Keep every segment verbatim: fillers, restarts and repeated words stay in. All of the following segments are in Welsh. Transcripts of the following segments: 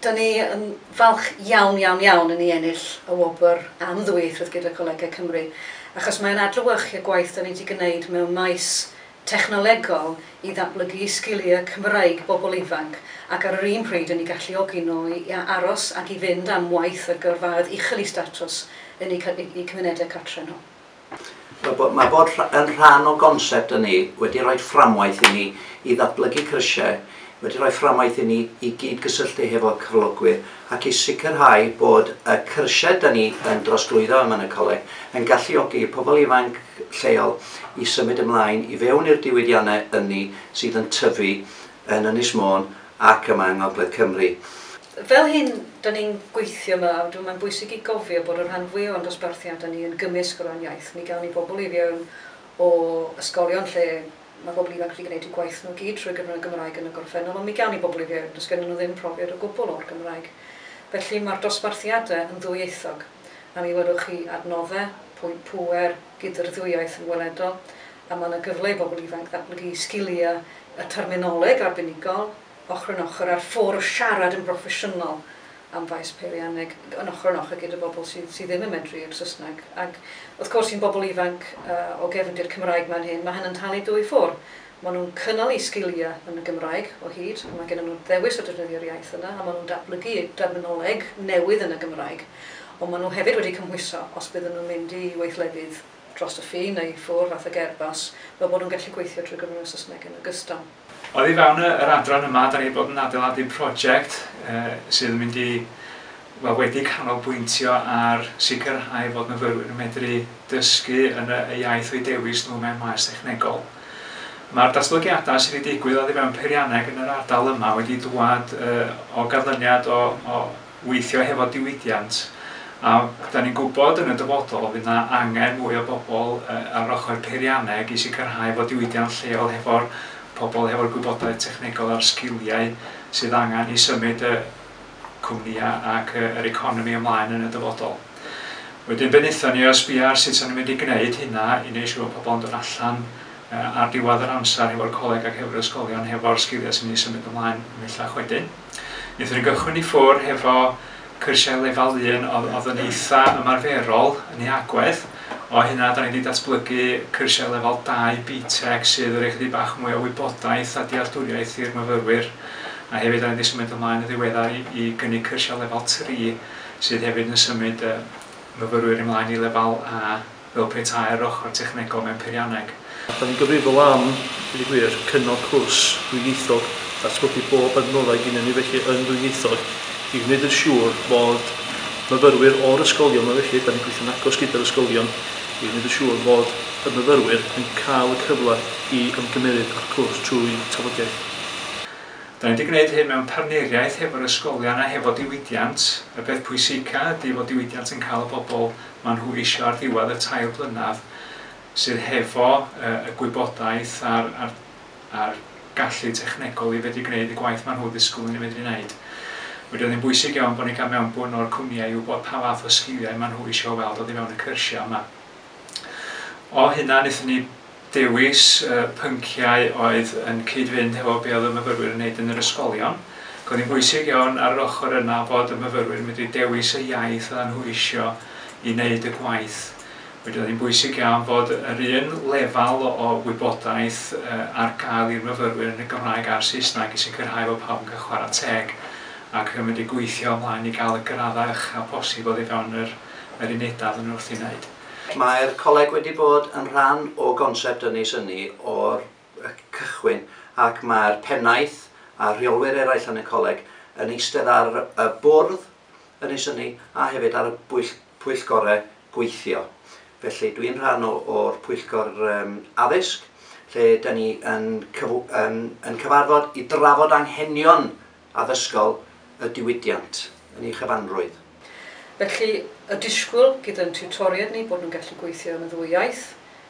Dyn ni yn falch iawn, iawn, iawn yn ei ennill y wobr am ddwyieithrwydd gyda Colegau Cymru, achos mae'n adlewyrchu y gwaith dyn ni wedi gwneud mewn maes technolegol i ddatblygu sgiliau Cymraeg bobl ifanc, ac ar yr un pryd yn ei galluogi nhw i aros ac i fynd am waith a gyrfaoedd uchel eu statws yn eu cymunedau cartre nhw. Mae bod yn rhan o gonsept ynni wedi rhoi fframwaith i ni i ddatblygu cyrsiau, wedi rhoi fframwaith i ni i gyd-gysylltu hefo cyflogwyr ac i sicrhau bod y cyrsiau da ni yn drosglwyddo yma yn y coleg yn galluogi pobl ifanc lleol i symud ymlaen i fewn i'r diwydiannau ynni sydd yn tyfu yn Ynys Môn ac yma yng Ngogledd Cymru. Fel hyn, da ni'n gweithio yma, mae'n bwysig i gofio bod y rhan fwyaf o'n dosbarthiadau ni yn gymysg o ran iaith. Mi gawn ni bobl i fewn o ysgolion lle mae bobl ifanc wedi gwneud eu gwaith nhw gyd trwy gyfrwng y Gymraeg yn y gorffennol, ond mi gawn ni bobl i fewn, does gennyn nhw ddim profiad o gwbl o'r Gymraeg. Felly mae'r dosbarthiadau yn ddwyieithog, a mi welwch chi adnoddau, pwynt pŵer gyda'r ddwy iaith yn weledol, a mae yna gyfle i bobl ifanc ddatblygu sgiliau y terminoleg arbenigol, ochr yn ochr a'r ffordd o siarad yn broffesiynol am faes peirianneg yn ochr yn ochr gyda bobl sydd, sydd ddim yn medru i'r Saesneg. Ac wrth gwrs i'n bobl ifanc uh, o gefndir Cymraeg mewn hyn, mae hynny'n talu dwy ffordd. Maen nhw'n cynnal eu sgiliau yn y Gymraeg o hyd, mae gen nhw ddewis o defnyddio'r iaith yna, a maen nhw'n datblygu terminoleg newydd yn y Gymraeg. Ond maen nhw hefyd wedi cymhwyso os bydden nhw'n mynd i weithlefydd dros y ffin neu ffwrdd fath ag Airbus, fel bod nhw'n gallu gweithio trwy gyfrwng y Saesneg yn ogystal. Oddi fewn yr adran yma, da ni wedi bod yn adeiladu prosiect eh, sydd yn mynd i, wel, wedi canolbwyntio ar sicrhau fod myfyrwyr yn medru dysgu yn y, y iaith o'u dewis nhw mewn maes technegol. Mae'r datblygiadau sydd wedi digwydd oddi fewn peirianneg yn yr ardal yma wedi dwad uh, o ganlyniad o, o weithio hefo diwydiant, a da ni'n gwybod yn y dyfodol fydd yna angen mwy o bobl uh, ar ochr peirianneg i sicrhau fod diwydiant lleol hefo'r pobl hefo'r gwybodaeth technegol a'r sgiliau sydd angen i symud y cwmnïau ac yr economi ymlaen yn y dyfodol. Wedyn be wnaethon ni o sbio ar sut o'n ni'n mynd i gwneud hynna i wneud siŵr bod pobl yn dod allan ar diwedd yr amser hefo'r coleg ac hefo'r ysgolion hefo'r sgiliau sy'n mynd i symud ymlaen ymhellach wedyn. Wnaethon ni gychwyn i ffwrdd hefo cyrsiau lefel un oedd yn eitha ymarferol yn ei agwedd. O hynna, da ni wedi datblygu cyrsiau lefel dau B TEC sydd yn rhoi chydig bach mwy o wybodaeth a dealltwriaeth i'r myfyrwyr. A hefyd, da ni wedi symud ymlaen yn ddiweddar i, i gynnig cyrsiau lefel tri sydd hefyd yn symud y myfyrwyr ymlaen i lefel A fel petai'r ochr technegol mewn peirianneg. Da ni'n gyfrifol am, i gwir, cynnal cwrs dwyieithog, datblygu bob adnoddau gyda ni felly yn ddwyieithog, i wneud yn siŵr bod myfyrwyr o'r ysgolion yma felly, da ni'n gweithio'n agos gyda'r ysgolion, i wneud yn siŵr bod y myfyrwyr yn cael y cyfle i ymgymeryd â'r cwrs trwy tafodiaith. Da ni wedi gwneud hyn mewn partneriaeth hefo'r ysgolion a hefo diwydiant. Y peth pwysica ydy fod diwydiant yn cael y bobl maen nhw eisiau ar ddiwedd y tair blynedd sydd hefo uh, y gwybodaeth a'r, a'r, a'r gallu technegol i fedru gwneud y gwaith maen nhw ddisgwyl yn ei medru wneud. Wedyn oedd hi'n bwysig iawn bod ni'n cael mewnbwn o'r cwmnïau i wybod pa fath o sgiliau maen nhw eisiau weld oddi fewn y cyrsiau yma. O hynna, wnaethon ni dewis uh, pynciau oedd yn cyd-fynd hefo be oedd y myfyrwyr yn wneud yn yr ysgolion. Ac oedd hi'n bwysig iawn ar yr ochr yna fod y myfyrwyr yn medru dewis y iaith oedden nhw eisiau i wneud y gwaith. Wedyn oedd hi'n bwysig iawn fod yr un lefel o wybodaeth uh, ar gael i'r myfyrwyr yn y Gymraeg a'r Saesneg i sicrhau fod pawb yn cael chwarae teg ac yn mynd i gweithio ymlaen i gael y graddau ucha posib oddi fewn yr, yr unedau oedden nhw wrth i wneud. Mae'r coleg wedi bod yn rhan o gonsept Ynys Ynni o'r cychwyn, ac mae'r pennaeth a rheolwyr eraill yn y coleg yn eistedd ar y bwrdd Ynys Ynni a hefyd ar y pwyllgorau gweithio. Felly dwi'n rhan o'r pwyllgor um, addysg lle da ni yn, cyf yn, yn cyfarfod i drafod anghenion addysgol y diwydiant yn ei chyfanrwydd. Felly, y disgwyl gyda'n tiwtoriaid ni bod nhw'n gallu gweithio yn y ddwy iaith,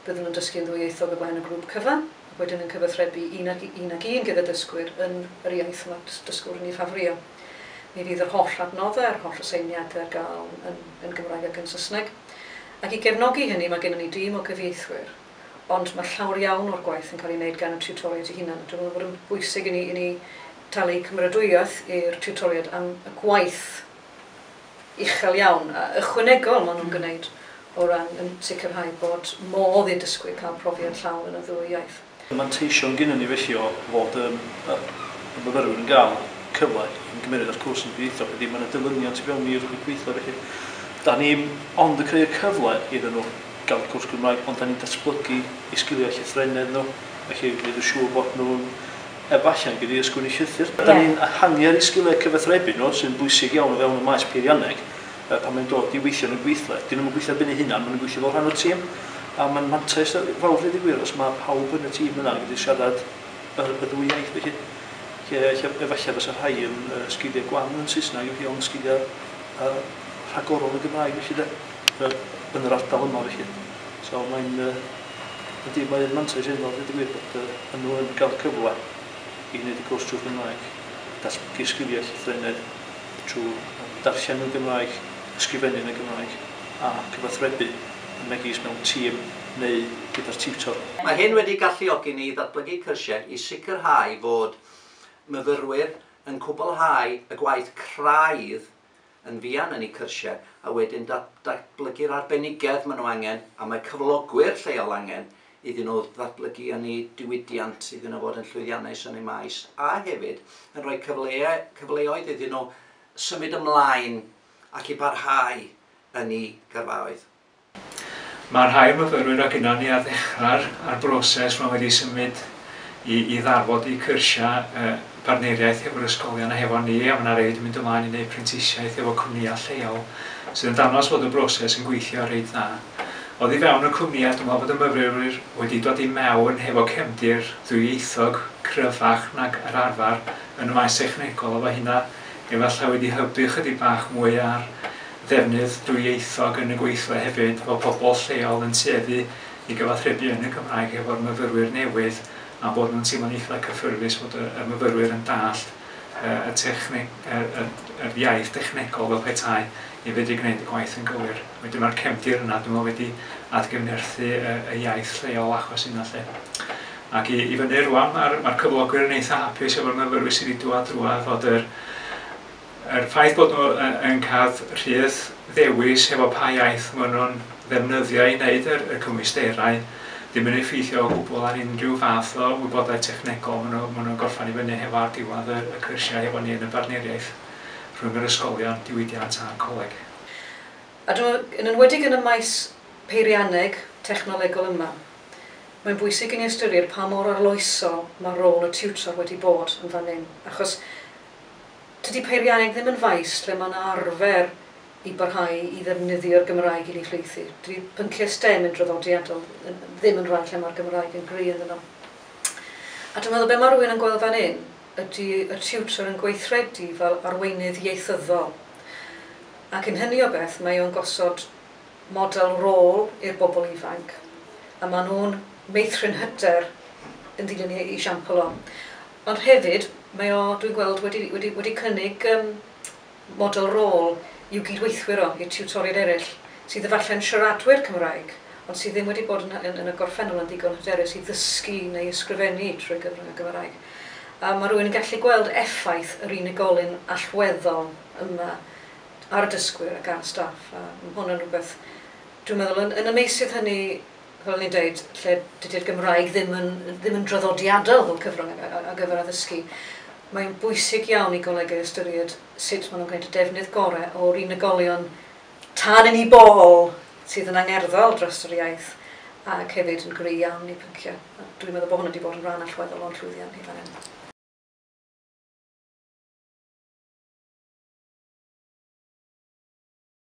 bydden nhw'n dysgu yn ddwyieithog o flaen y grŵp cyfan, ac wedyn yn cyfathrebu un ag un, ag un gyda dysgwyr yn yr iaith mae dysgwyr yn ei ffafrio. Mi fydd yr holl adnoddau, yr holl aseiniadau ar gael yn, yn Gymraeg ac yn Saesneg. Ac i gefnogi hynny, mae gennym ni dîm o gyfieithwyr, ond mae llawer iawn o'r gwaith yn cael ei wneud gan y tiwtoriaid eu hunain. Dwi'n meddwl bod yn bwysig i ni, i ni talu cymeradwyaeth i'r tiwtoriaid am y gwaith uchel iawn a ychwanegol maen nhw'n gwneud o ran yn sicrhau bod modd i'r dysgwyr cael profiad llawn yn y ddwy iaith. Y manteision gynnon ni felly o fod um, y, y myfyrwyr yn gael cyfle i gymryd ar cwrs yn ddwyieithog ydy mae yna dilyniant i fewn i'r gweithio felly. Da ni ond yn creu y cyfle iddyn nhw gael cwrs Gymraeg, ond da ni'n datblygu eu sgiliau llythrennedd nhw, felly gwneud yn siŵr bod nhw'n efallai yn gallu ysgrifennu llythyr. Da ni'n ehangu ar eu sgiliau cyfathrebu nhw, sy'n bwysig iawn o fewn y maes peirianneg, pan mae'n dod i weithio yn y gweithle. Dyn nhw'n gweithio ar ben eu hunan, maen nhw'n gweithio fel rhan o'r tîm. A mae'n mantais fawr i gwir os mae pawb yn y tîm yna yn gallu siarad y, y ddwy iaith felly. Lle, lle efallai fysa rhai yn uh, sgiliau gwan yn Saesneg, yw hi ond sgiliau uh, rhagorol yn Gymraeg felly de, uh, yn yr ardal yma felly. So mae'n uh, ydy, mae'n mantais enfawr i gwir bod uh, nhw yn cael cyfle i wneud y cwrs trwy Gymraeg, datblygu sgiliau llythrennedd trwy darllen yn Gymraeg, ysgrifennu yn y Gymraeg a cyfathrebu yn megis mewn tîm neu gyda'r tiwtor. Mae hyn wedi galluogi ni i ddatblygu cyrsiau i sicrhau fod myfyrwyr yn cwblhau y gwaith craidd yn fuan yn eu cyrsiau a wedyn datblygu'r arbenigedd maen nhw angen a mae cyflogwyr lleol angen iddyn nhw ddatblygu yn eu diwydiant, iddyn nhw fod yn llwyddiannus yn eu maes a hefyd yn rhoi cyfle cyfleoedd iddyn nhw symud ymlaen ac i barhau yn eu gyrfaoedd. Mae rhai myfyrwyr o gynnon ni ar ddechrau'r ar broses maen wedi symud i, i ddarfod i cyrsiau uh, partneriaeth hefo'r ysgolion a hefo ni, a mae yna rei wedi mynd ymlaen i wneud prentisiaeth efo cwmnïau lleol, sydd yn dangos bod y broses yn gweithio reit dda. Oddi fewn y cwmnïau, dwi'n meddwl bod y myfyrwyr wedi dod i mewn hefo cefndir ddwyieithog cryfach nag yr arfer yn y maes technegol, a efo hynna efallai wedi hybu chydig bach mwy ar ddefnydd dwyieithog yn y gweithle hefyd, fel pobl lleol yn tueddu i gyfathrebu yn y Gymraeg efo'r myfyrwyr newydd a bod nhw'n teimlo'n eitha cyffyrddus bod y, y myfyrwyr yn dallt y, techne, y, y, yr iaith technegol fel petai i fedru gwneud y gwaith yn gywir. Wedyn mae'r cefndir yna, dwi'n meddwl, wedi atgyfnerthu y, y iaith lleol achos yna lle. Ac i, i fyny rwan, mae'r mae cyflogwyr yn eitha hapus efo'r myfyrwyr sydd wedi dŵad drwadd fod yr, yr ffaith bod nhw yn cael rhydd ddewis efo pa iaith maen nhw'n ddefnyddio i wneud yr, y cymwysterau ddim yn effeithio o gwbl ar unrhyw fath o wybodaeth technegol maen nhw, maen nhw'n gorffan i fyny hefo ar diwedd y, y cyrsiau efo ni yn y bartneriaeth rhwng yr ysgolion, diwydiant a'r coleg. A dwi'n yn enwedig yn y maes peirianneg technolegol yma, mae'n bwysig i ni ystyried pa mor arloesol mae rôl y tiwtor wedi bod yn fan hyn. Achos tydi peirianneg ddim yn faes lle mae'n arfer i barhau i ddefnyddio'r Gymraeg i llwythi. Dydy pynciau STEM yn draddodiadol ddim yn rhan lle mae'r Gymraeg yn gry ynddyn nhw. A dwi'n meddwl be mae rhywun yn gweld fan hyn ydy y tiwtor yn gweithredu fel arweinydd ieithyddol. Ac yn hynny o beth mae o'n gosod model rôl i'r bobl ifanc. A maen nhw'n meithrin hyder yn dilyn ei esiampl o. Ond hefyd, mae o, dwi'n gweld, wedi, wedi, wedi cynnig um, model rôl i'w gydweithwyr o, i'r tiwtoriaid eraill, sydd efallai'n siaradwyr Cymraeg, ond sydd ddim wedi bod yn, yn, yn y gorffennol yn ddigon hyderus i ddysgu neu ysgrifennu trwy gyfrwng y Gymraeg. A mae rhywun yn gallu gweld effaith yr unigolyn allweddol yma ar y dysgwyr ac ar y staff. A mae hwn yn rhywbeth, dwi'n meddwl, yn, yn y meysydd hynny, fel ni'n dweud, lle dydy'r Gymraeg ddim yn, ddim yn draddodiadol fel cyfrwng ar gyfer addysgu, mae'n bwysig iawn i golegau ystyried sut maen nhw'n gwneud y defnydd gorau o'r unigolion tân yn ei bol sydd yn angerddol dros yr iaith ac hefyd yn gry iawn i pynciau. Dwi'n meddwl bod hwnna wedi bod yn rhan allweddol o'n llwyddiant ni fan hyn.